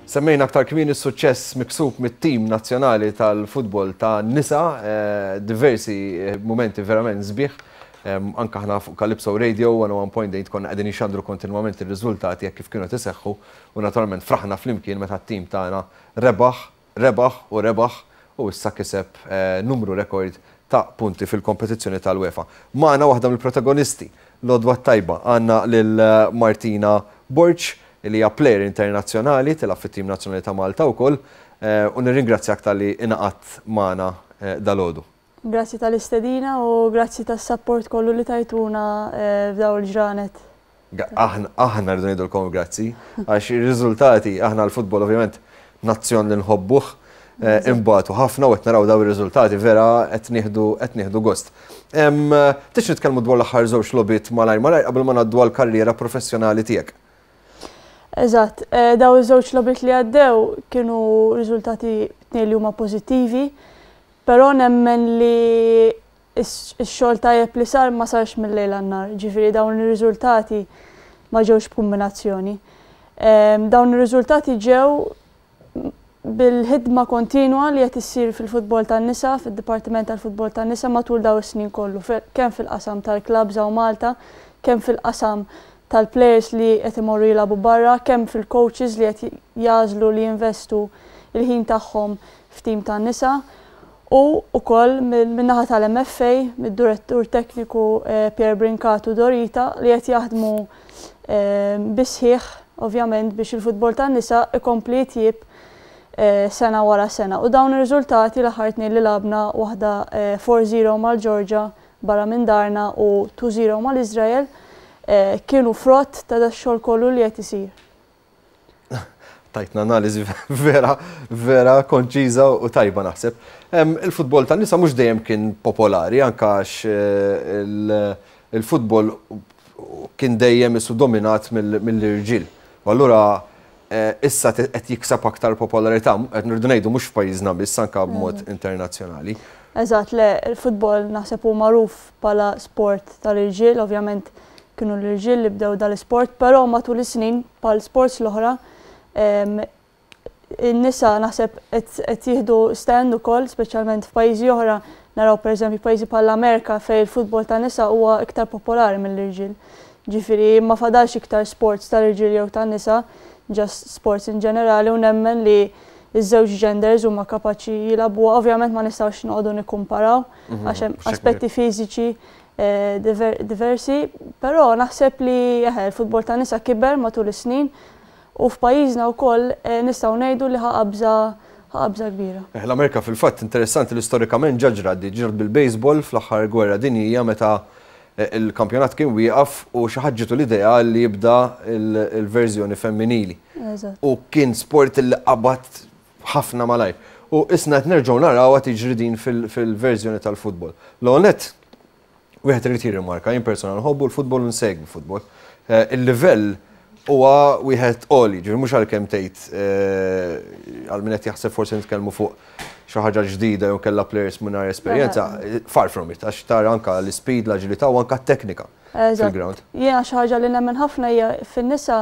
Semmejna aktar kmieni s-suċċess miksub mit-tim nazzjonali tal-futbol ta' nisa, diversi mumenti verament sbieħ. Anke aħna fuq Calypso Radio 101.8 konna qegħdin inxandru kontinwament ir-riżultati hekk kif kienu qed iseħħu u naturalment fraħna flimkien meta t-tim tagħna rebaħ, rebaħ u rebaħ u issa kiseb numru rekord ta' punti fil-kompetizzjoni tal-UEFA. Magħna waħda mill-protagonisti l-għodwa t-tajba għandna lil Martina Borg li hija plejer internazzjonali, tilgħab fit-tim nazzjonali ta' Malta wkoll, u nirringrazzjak talli ingħaqadt magħna dalgħodu. Grazzi tal-istedina u grazzi tas-sapport kollu li tajtuna f'dawn il-ġranet. Aħna aħna rridu ngħidulkom grazzi għax ir-riżultati aħna l-futbol ovvjament nazzjon li nħobbuh imbagħtu ħafna u qed naraw daw ir-riżultati vera qed nieħdu qed nieħdu gost. Tix nitkellmu dwar l-aħħar żewġ logħbiet malajr malajr qabel ma ngħaddu għall-karriera professjonali tiegħek. Eżatt, daw iż-żewġ logħbiet li għaddew kienu riżultati tnejn li huma pożittivi, però nemmen li x-xogħol tajjeb li sar ma sarx mil-lejl għan-nhar, ġifieri dawn ir-riżultati ma ġewx b'kumbinazzjoni. Dawn ir-riżultati ġew bil-ħidma kontinwa li qed issir fil-futbol tan-nisa, fid-Dipartiment tal-Futbol tan-Nisa matul dawn is-snin kollu, kemm fil-qasam tal-klabbs hawn Malta, kemm fil-qasam tal-plejers li qed imorru jilagħbu barra, kemm fil-coaches li qed jagħżlu li jinvestu l-ħin tagħhom f'tim tan-nisa u wkoll min-naħa tal-MFA, mid-Direttur Tekniku Pierre Brincat u Dorita li qed jaħdmu bis-sħiħ ovvjament biex il-futbol tan-nisa ikompli jitjieb sena wara sena. U dawn ir-riżultati l-aħħar tnejn li lagħbna waħda 4-0 mal-Ġorġa barra minn darna u 2-0 mal-Iżrael kienu frott ta' dax-xogħol kollu li qed isir. Tajtna analiżi vera, vera konċiża u tajba naħseb. Il-futbol tan-nisa mhux dejjem kien popolari, anke għax il-futbol kien dejjem isu dominat mill-irġiel. U allura issa qed jikseb aktar popolarità, qed nirdu ngħidu mhux f'pajjiżna biss, anke b'mod internazzjonali. Eżatt, le, il-futbol naħseb hu magħruf bħala sport tal-irġiel, ovvjament kienu l-irġiel li bdew dal-isport, però matul is-snin bħal sports l-oħra in-nisa naħseb qed jieħdu stand ukoll, speċjalment f'pajjiżi oħra naraw pereżempju pajjiżi bħall-Amerika fejn il-futbol tan-nisa huwa iktar popolari mill-irġiel. Ġifieri ma fadalx iktar sports tal-irġiel jew tan-nisa, just sports in ġenerali u nemmen li ż-żewġ genders huma kapaċi jilagħbuha. Ovvjament ma nistgħux noqogħdu nikkumparaw għax hemm aspetti fiżiċi diversi, però naħseb li eħe il-futbol tan-nisa kiber matul is-snin u f'pajjiżna wkoll nistgħu ngħidu li ħa qabża ħa qabża kbira. L-Amerika fil-fatt interessanti li storikament ġa ġrat di, ġrat bil-baseball fl-aħħar gwerra dinjija meta il-kampjonat kien wieqaf u xi ħadd ġietu l-idea li jibda l-verżjoni femminili. U kien sport li qabad ħafna malajr. U isna qed nerġgħu narawha tiġri din fil-verżjoni tal-futbol. L-ewwel nett, wieħed irid jirrimarka, jien persona nħobbu l-futbol u nsegwi futbol. Il-livell huwa wieħed għoli, ġifieri mhux għalkemm tgħid għal min qed jaħseb forsi nitkellmu fuq xi ħaġa ġdida jew kellha players mingħajr esperjenza, far from it, għax tara anke l-ispeed, l-aġilità u anke t-teknika fil-ground. Jiena xi ħaġa li nemmen ħafna hija fin-nisa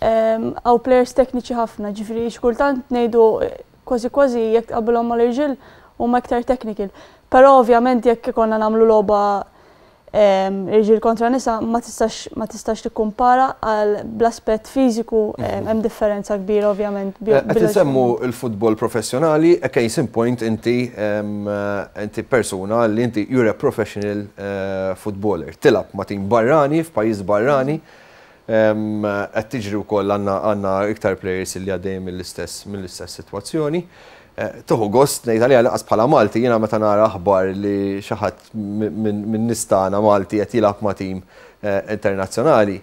hawn players tekniċi ħafna, ġifieri xi kultant ngħidu kważi kważi jekk tqabbilhom mal-irġiel huma iktar technical. Però ovvjament jekk ikollna nagħmlu logħba irġiel kontra nisa ma tistax ma tistax tikkumpara għal bl-aspett fiżiku hemm differenza kbira ovvjament. Qed insemmu l-futbol professjonali, a case in point inti inti persuna li inti you're a professional footballer. Tilgħab ma' tim barrani f'pajjiż barrani. Qed tiġri wkoll għandna għandna iktar players li għaddejjin mill-istess mill-istess sitwazzjoni. Tieħu gost ngħid għaliha lanqas bħala Malti jiena meta nara aħbar li xi ħadd minn nies tagħna Malti qed jilgħab ma' tim internazzjonali,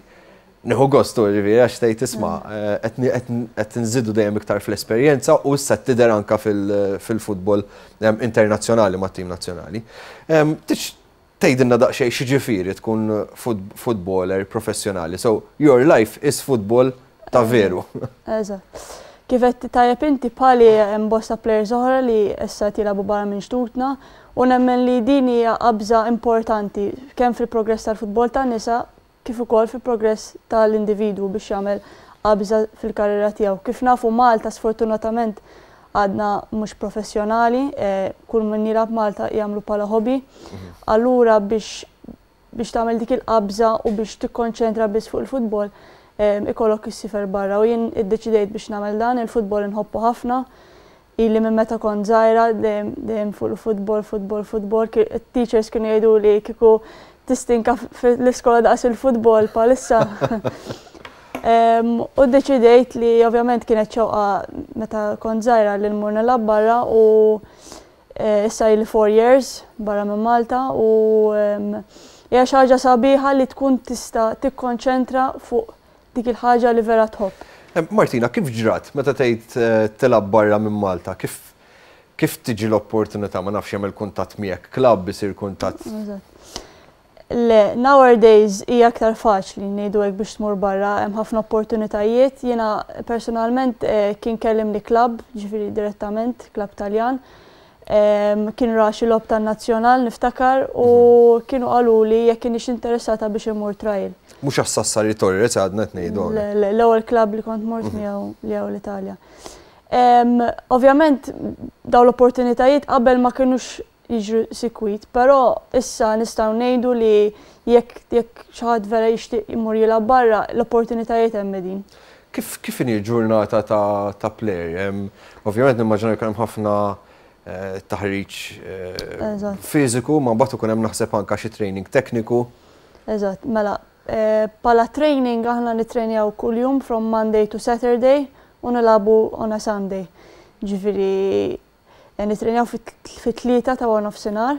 nieħu gost u ġifieri għax tgħid isma' qed nżidu dejjem iktar fl-esperjenza u issa tidher anke fil-futbol internazzjonali mat-tim nazzjonali. Tgħidilna daqsxejn x'jiġifieri tkun footballer professjonali. So, your life is football ta' veru. Eżatt. Kif għedt tajjeb inti bħali hemm bosta players oħra li issa qed jilagħbu barra minn xtutna u nemmen li din hija qabża importanti kemm fil-progress tal-futbol tan-nisa kif ukoll fil-progress tal-individwu biex jagħmel qabża fil-karriera tiegħu. Kif nafu, Malta sfortunatament għadna mhux professjonali, kull min jilgħab Malta jagħmlu bħala hobby. Allura biex tagħmel dik il-qabża u biex tikkonċentra biss fuq il-futbol, ikollok issiefer barra u jien iddeċidejt biex nagħmel dan. Il-futbol inħobbu ħafna. Ili minn meta kont żgħira dejjem fuq il-futbol, futbol, futbol. Teachers kienu jgħidu li kieku tistinka fl-iskola daqs il-futbol bħalissa. U deċidejt li ovvjament kienet xewqa meta kont żgħira li nmur nilgħab barra u issa ili 4 years barra minn Malta u hija xi ħaġa sabiħa li tkun tista' tikkonċentra fuq dik il-ħaġa li vera tħobb. Martina, kif ġrat meta tgħid tilgħab barra minn Malta? Kif tiġi l-opportunità? Ma nafx, jagħmel kuntatt miegħek klabb, isir kuntatt? Le, nowadays hija aktar faċli, ngħidu hekk, biex tmur barra, hemm ħafna opportunitajiet. Jiena personalment kien kellimni klabb, ġifieri direttament, klabb Taljan. Kien ra xi logħob tan-nazzjonal, niftakar, u kienu qalu li jekk kienx interessata biex imur trial. Mhux għas-Sassari Torres għadna qed ngħidu. L-ewwel klabb li kont mort miegħu li hawn l-Italja. Ovvjament daw l-opportunitajiet qabel ma kinux jiġru sikwit, però issa nistgħu ngħidu li jekk xi ħadd vera jixtieq imur jilgħab barra, l-opportunitajiet hemm din. Kif inhi ġurnata ta' player? Ovvjament nimmaġina jkun hemm ħafna taħriġ fiżiku, ma mbagħad ikun hemm, naħseb, anka xi training tekniku. Eżatt, mela bħala training aħna nitrenjaw kuljum from Monday to Saturday u nilagħbu on a Sunday. Ġifieri nitrenjaw fit-3 ta' wara nofsinhar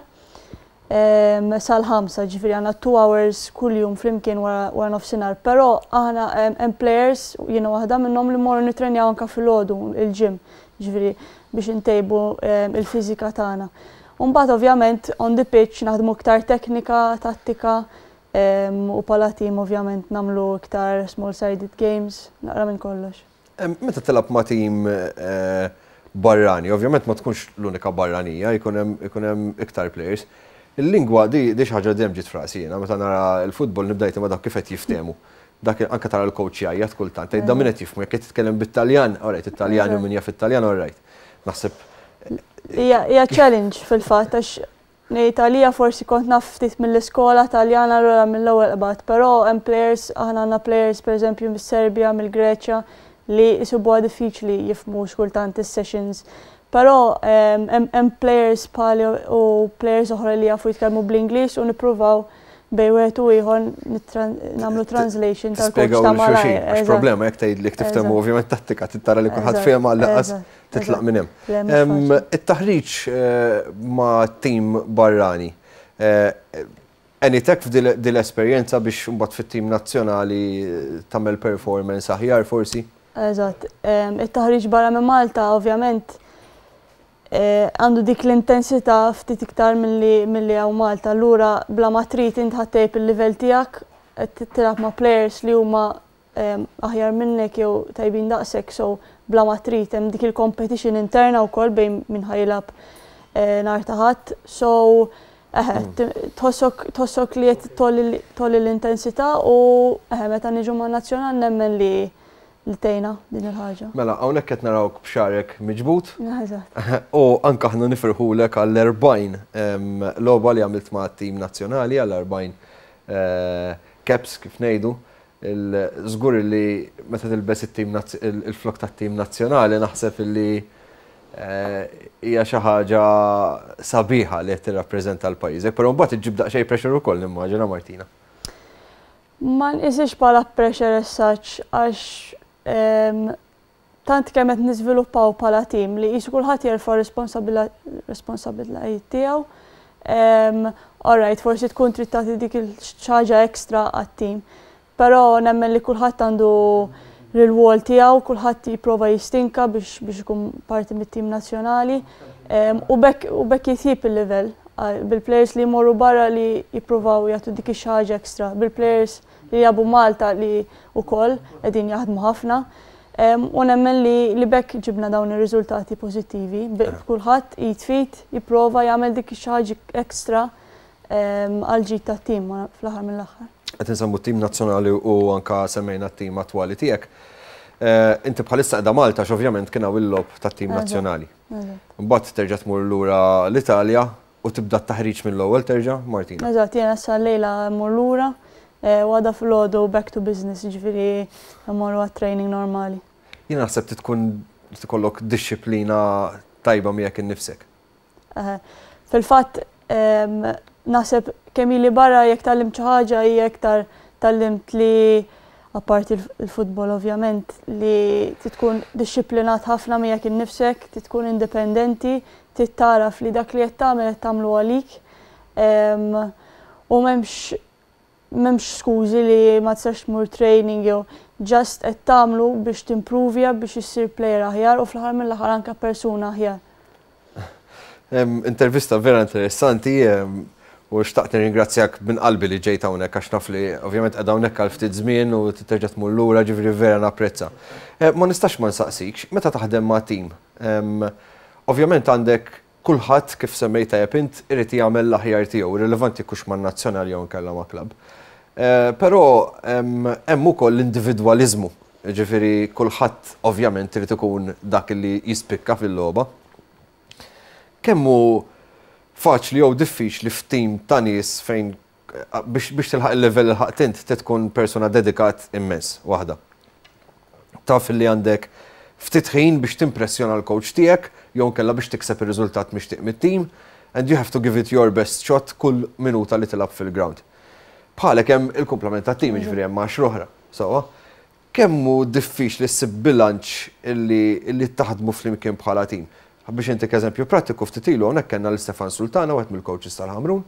sal-5, ġifieri għandna 2 hours kuljum flimkien wara nofsinhar. Però aħna hemm players, jiena waħda minnhom, li morru nitrenjaw anka filgħodu il-gym, ġifieri biex intejbu il-fiżika tagħna. Mbagħad ovvjament on the pitch naħdmu iktar teknika, tattika u bħala team ovvjament nagħmlu iktar small-sided games, naqra minn kollox. Meta tilgħab ma' team barrani, ovvjament ma tkunx l-unika barranija, ikun hemm iktar players. Il-lingwa di xi ħaġa dejjem ġiet f'rasi jiena, meta nara l-futbol nibda ma dak kif qed jiftehmu. Dak anke tara l-coach jgħajjat kultant, tgħid da min qed jifhmu, jekk qed titkellem bit-Taljan, alright, it-Taljan u min jaf it-Taljan, alright. Naħseb Hija challenge fil-fatt għax ngħid għalija forsi kont naf ftit mill-iskola Taljana, allura mill-ewwel qbad, però hemm players, aħna għandna players pereżempju mis-Serbja, mill-Greċja, li jsibuha diffiċli jifhmu xkultant is-sessions. Però hemm players bħali u players oħra li jafu jitkellmu bl-Ingliż u nippruvaw bejn wieħed u ieħor nagħmlu translation tal-coach ta' malajr. Għax problema jekk tgħid li tiftehmu ovvjament tattika tittara li kulħadd fehem, għall titlaq minn hemm. It-taħriġ ma' tim barrani. Għenitek f'dil esperjenza biex mbagħad fit-tim nazzjonali tagħmel performance aħjar forsi? Eżatt. It-taħriġ barra minn Malta ovvjament għandu dik l-intensità ftit iktar milli hawn Malta. Allura bla ma trid int ħa ttejjeb il-livell tiegħek, qed tilgħab ma' players li huma aħjar minnek jew tajbin daqsek, so bla ma trid hemm dik il-competition interna wkoll bejn min ħa jilgħab nhar ta' Ħadd. So eħe, tħossok li qed tgħolli l-intensità u eħe, meta niġu ma' nazzjonal nemmen li tgħinna din il-ħaġa. Mela, hawnhekk qed narawk b'xagħrek miġbud. U anka aħna nifirħulek għall-40 logħba li għamilt ma' tim nazzjonali, għall-40 caps kif ngħidu. Żgur li meta tilbes it-tim il-flok tat-tim nazzjonali naħseb li hija xi ħaġa sabiħa li qed tirrappreżenta l-pajjiżek, però mbagħad iġġib daqsxejn pressure ukoll, nimmaġina, Martina. Ma nqisix bħala pressure as such għax tant kemm qed niżviluppaw bħala tim li qisu kulħadd jerfa' responsabilitajiet tiegħu. Alright, forsi tkun trid tagħti dik il-ħaġa extra għat-tim. Però nemmen li kulħadd għandu l-rwol tiegħu, kulħadd jipprova jistinka biex ikun parti mit-tim nazzjonali. U bekk jitjib il-livell bil-players li jmorru barra li jippruvaw jagħtu dik ix-ħaġa extra, bil-players li jilagħbu Malta li wkoll qegħdin jaħdmu ħafna. U nemmen li bekk ġibna dawn ir-riżultati pożittivi. Kulħadd jitfit, jipprova jagħmel dik ix-ħaġa extra għal ġid tat-tim fl-aħħar mill-aħħar. Qed insemmu t-tim nazzjonali u anka semmejna t-tim attwali tiegħek. Inti bħalissa qiegħda Malta għax ovvjament kien hawn il-logħob tat-tim nazzjonali. Mbagħad terġa' tmur lura l-Italja u tibda t-taħriġ mill-ewwel terġa', Martina? Eżatt, jiena issa llejla mmur lura u għada filgħodu back to business, jiġifieri mmorru għat-training normali. Jiena naħseb trid tkun trid ikollok dixxiplina tajba miegħek innifsek. Fil-fatt naħseb kemm ili barra jekk tgħallimt xi ħaġa hija iktar tgħallimt li apparti l-futbol ovvjament li trid tkun dixxiplinat ħafna miegħek innifsek, trid tkun indipendenti, trid tagħraf li dak li qed tagħmel qed tagħmlu għalik u m'hemmx m'hemmx skużi li ma tistax tmur training jew just qed tagħmlu biex timpruvja biex issir player aħjar u fl-aħħar mill-aħħar anke persuna aħjar. Intervista vera interessanti u xtaqt nirringrazzjak minn qalbi li ġejt hawnhekk għax naf li ovvjament qiegħda hawnhekk għal ftit żmien u terġa' tmur lura ġifieri vera napprezza. Ma nistax ma nsaqsikx, meta taħdem ma' tim, ovvjament għandek kulħadd kif semmejt tajjeb int irid jagħmel l-aħjar tiegħu, irrilevanti jekk hux man-nazzjonal jew inkella ma' klabb. Però hemm ukoll l-individwaliżmu, jiġifieri kulħadd ovvjament irid ikun dak li jispikka fil-logħba. Kemm hu faċli jew diffiċli f'tim ta' nies fejn biex, biex tilħaq il-level li lħaqt int trid tkun persuna dedikat immens waħda. Taf li għandek ftit ħin biex timpressjona l-coach tiegħek jew nkella biex tikseb ir-riżultat mixtieq mit-tim and you have to give it your best shot kull minuta li tilgħab fil-ground. Bħalek hemm il-kumplament tat-tim, jiġifieri hemm għaxra oħra. Sewwa? Kemm hu diffiċli ssib bilanċ illi illi taħdmu flimkien bħala tim? Biex intik eżempju prattiku, ftit ilu hawnhekk kellna lil Stefan Sultana, wieħed mill-coaches tal-Ħamrun,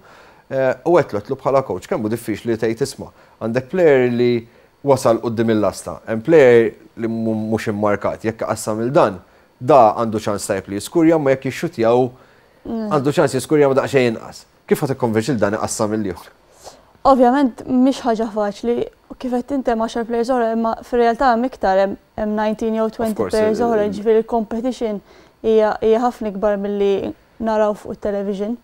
u għedtlu għedtlu bħala coach kemm hu diffiċli li tgħid isma' għandek player li wasal quddiem il-lasta, hemm player li mhux immarkat, jekk iqassam lil dan, da għandu ċans tajjeb li jiskurja imma jekk jixxuttja hu għandu ċans jiskurja ma daqsxejn inqas. Kif ħa tikkonvinċi lil dan iqassam lill-ieħor? Ovvjament mhix ħaġa faċli, kif għedt int hemm għaxar players oħra imma fir-realtà hemm iktar hemm 19 jew 20 players oħra, jiġifieri l-competition hija ħafna ikbar milli naraw fuq it-television.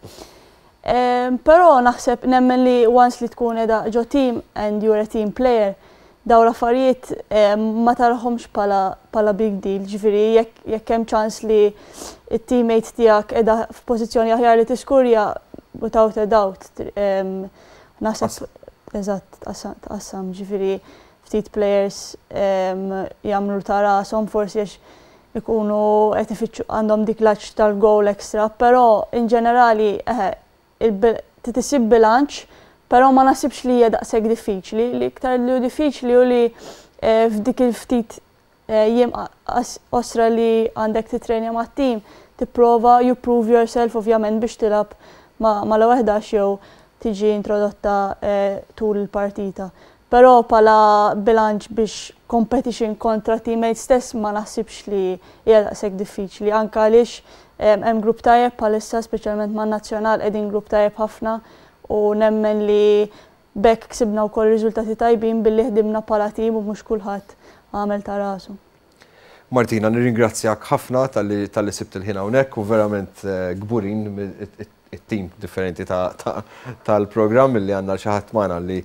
Però naħseb nemmen li once li tkun qiegħda ġo team and you're a team player, dawn l-affarijiet ma tarahomx bħala big deal, ġifieri jekk hemm ċans li t-teammate tiegħek qiegħda f'pożizzjoni aħjar li tiskurja without a doubt naħseb eżatt tqassam, ġifieri ftit players jagħmlu ta' rashom forsi għax ikunu qed ifittxu għandhom dik l-għatx tal-goal extra, però in ġenerali eħe trid issib bilanċ, però ma naħsibx li hija daqshekk diffiċli. Li iktar li hu diffiċli hu li f'dik il-ftit jiem qosra li għandek titrenja mat-tim, tipprova you prove yourself ovvjament biex tilgħab mal-ewwel 11 jew tiġi introdotta tul il-partita. Però bħala bilanċ biex competition kontra teammates stess ma naħsibx li hija daqshekk diffiċli anke għaliex hemm grupp tajjeb bħalissa speċjalment man-nazzjonal qegħdin grupp tajjeb ħafna u nemmen li b'hekk ksibna wkoll riżultati tajbin billi ħdimna bħala tim u mhux kulħadd għamel ta' rasu. Martina, nirringrazzjak ħafna talli talli sibt il-ħin hawnhekk u verament kburin it-tim differenti tal-programm li għandna xi ħadd magħna li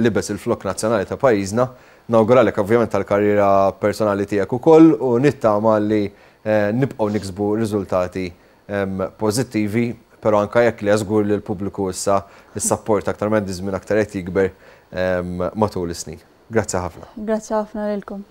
libes il-flokk nazzjonali ta' pajjiżna. Nawguralek ovvjament tal-karriera personali tiegħek ukoll u nittama li nibqgħu niksbu riżultati pożittivi, però anke jekk le żgur li l-pubbliku issa s-sapport aktar ma jgħaddi żmien aktar qed jikber matul is-snin. Grazzi ħafna. Grazzi ħafna lilkom.